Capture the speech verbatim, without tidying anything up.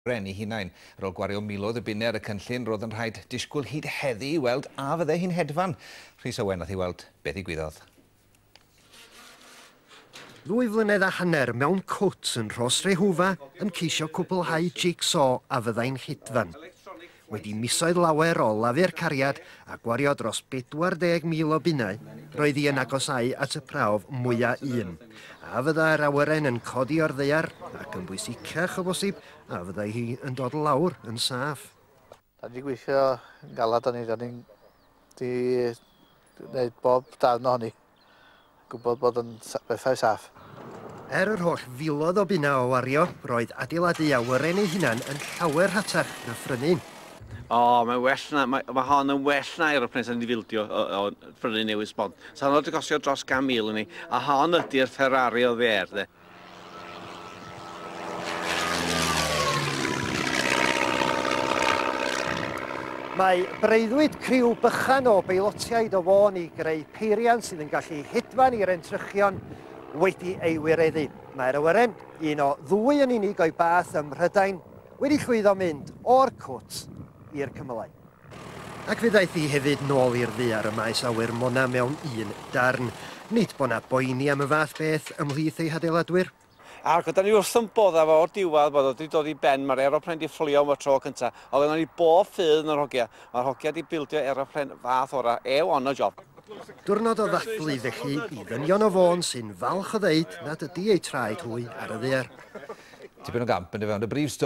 Awyren ei hunain. Ar ôl gwario miloedd o bunnau ar y cynllun, roedd yn rhaid disgwyl hyd heddi i weld a fydde hi'n hedfan. Rhys Owen nath i weld beth ddigwyddodd. Ddwy flynedd a hanner mewn cwt yn Rhosrehwfa yn ceisio cwblhau jigsaw a fyddai'n hedfan. Wedi misoedd lawer o lafur cariad a gwario dros bedwar deg mil o bunnau, roedd hi yn agosáu at y prawf mwyaf un. A fyddai'r awyren yn codi o'r ddaear, ac yn bwysicach o bosib, a fyddai hi yn dod lawr yn saff. Da ni wedi gweithio yn galad arni, da ni'n di gwneud bob darn ohoni, gwybod bod yn bethau saff. Er yr holl filoedd o bunnau o wario, roedd adeiladu awyren ei hunan yn llawer rhatach na phrynu. O, mae'n well na, mae, mae hon yn well na aeroplane sy'n fildio o, o phrynu newydd sbon. Sa'n wedi costio dros gan mil i ni, a hon ydy'r Ferrari o ddaear, de. Mae breuddwyd criw bychan o beilotiaid o Fôn i greu peiriant sydd yn gallu hedfan i'r entrychion wedi ei wireddu. Mae'r awyren, un o ddwy yn unig o'i bath ym Mhrydain, wedi llwyddo mynd o'r cwt i'r cymylau. Ac fe ddaeth hi hefyd nôl i'r ddaear y maes awyr Mona mewn un darn. Nid bod 'na boeni am y fath beth ymhlith ei hadeiladwyr. Ac oedden ni wrth yn bodda fo o'r diwedd bod o wedi dod i ben, mae'r aeroplane wedi fflio am y tro cyntaf. Oedd yna ni bob ffydd yn yr hogia. Mae'r hogia wedi bildio aeroplane fath ora, A one o job. Diwrnod o ddathlu felly i ddynion o Fôn sy'n falch o ddeud nad ydy eu traed hwy ar y ddaear. Tipyn o gamp yn dy fewn y brif stori.